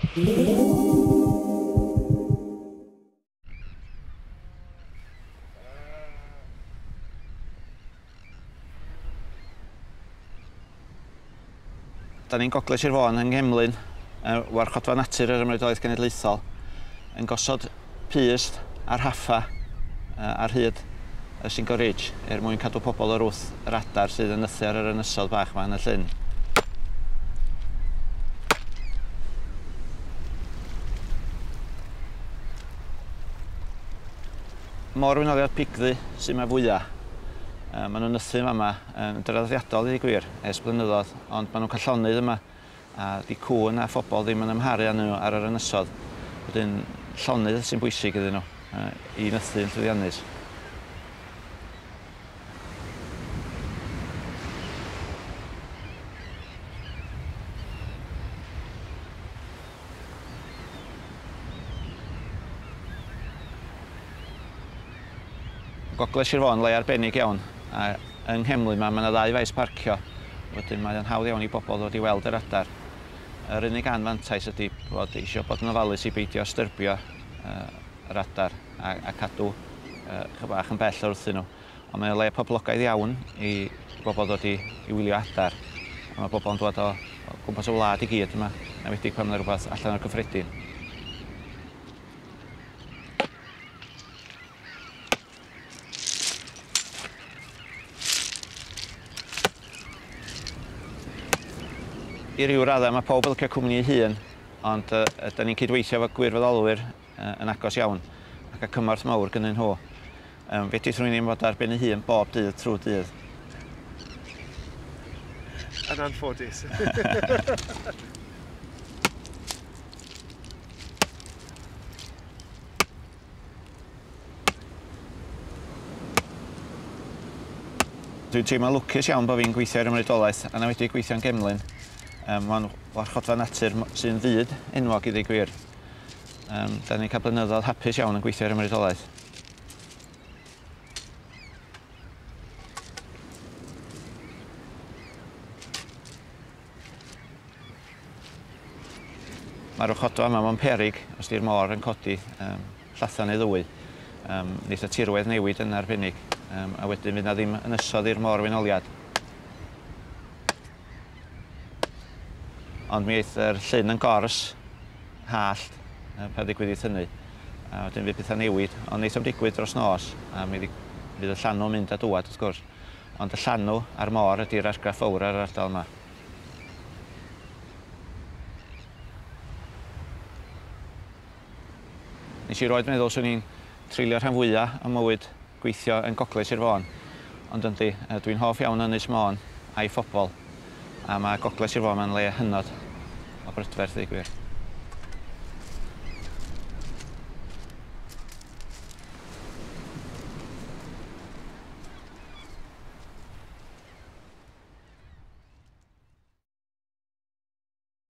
Da ni'n Gogledd Sir Fôn yng Nghemlyn, y warchodfa natur yr Ymreolaeth Genedlaethol, yn gosod pyst a rhaffa ar hyd y Single Ridge er mwyn cadw pobl o'r wrth yr adar sydd yn nythu ar yr ynysodd bach yma yn y llyn. Môr-wenoliad pigddu sydd yma fwyaf. Maen nhw'n nythu yma yn draddodiadol i gwir ers blynyddoedd, ond maen nhw'n cael llonydd yma a di cŵn a phobl ddim yn ymharu â nhw ar yr ynysodd. Wedyn llonydd sy'n bwysig iddyn nhw i nythu yn llwyddiannus. Gogledd Sir Fôn le arbennig iawn, a yng Nghemlyn 'ma ma' 'na ddau faes parcio, wedyn mae o'n hawdd iawn i bobl ddod i weld yr adar. Yr unig anfantais ydy bod eisiau bod yn ofalus i beidio styrbio yr adar a cadw chydig bach yn bell wrthyn nhw. Ond mae o'n le poblogaidd iawn i bobl ddod i wylio adar. A mae bobl yn dod o gwmpas y wlad i gyd yma, yn enwedig pan mae rhywbeth allan o'r cyffredin. I ryw raddau mae pawb yn licio cwmni ei hun, ond da ni'n cydweithio efo gwirfoddolwyr yn agos iawn ac y cymorth mawr gynnyn nhw. Fedrith rhywun ddim fod ar ben ei hun bob dydd trwy dydd. Yn anffodus. Dwi'n teimlo lwcus iawn bod fi'n gweithio i'r Ymreolaeth a wedi gweithio'n Gemlyn. Mae'n warchodfa natur sy'n fyd enwog i ddweud gwir. Da ni'n cael blynyddoedd hapus iawn yn gweithio i'r Ymreolaeth. Mae'r warchodfa yma mewn peryg os di'r môr yn codi llathan neu ddwy. Neith y tirwedd newid yn arbennig, a wedyn fydd na ddim ynysodd i'r môr-wenoliad. Ond mi eith yr llyn yn gors hallt pan ddigwyddith hynny, a wedyn fydd pethau newid, ond neith o'm digwydd dros nos, a mi fydd y llanw'n mynd a dŵad wrth gwrs. Ond y llanw a'r môr ydy'r argraff fawr ar yr ardal yma. Nes i roed meddwl swn i'n treulio rhan fwyaf o mywyd gweithio yn Gogledd Sir Fôn, ond yndi, dwi'n hoff iawn o Ynys Môn a'i phobl, a mae Gogledd Sir Fôn yn le hynod o brydferth i gwir.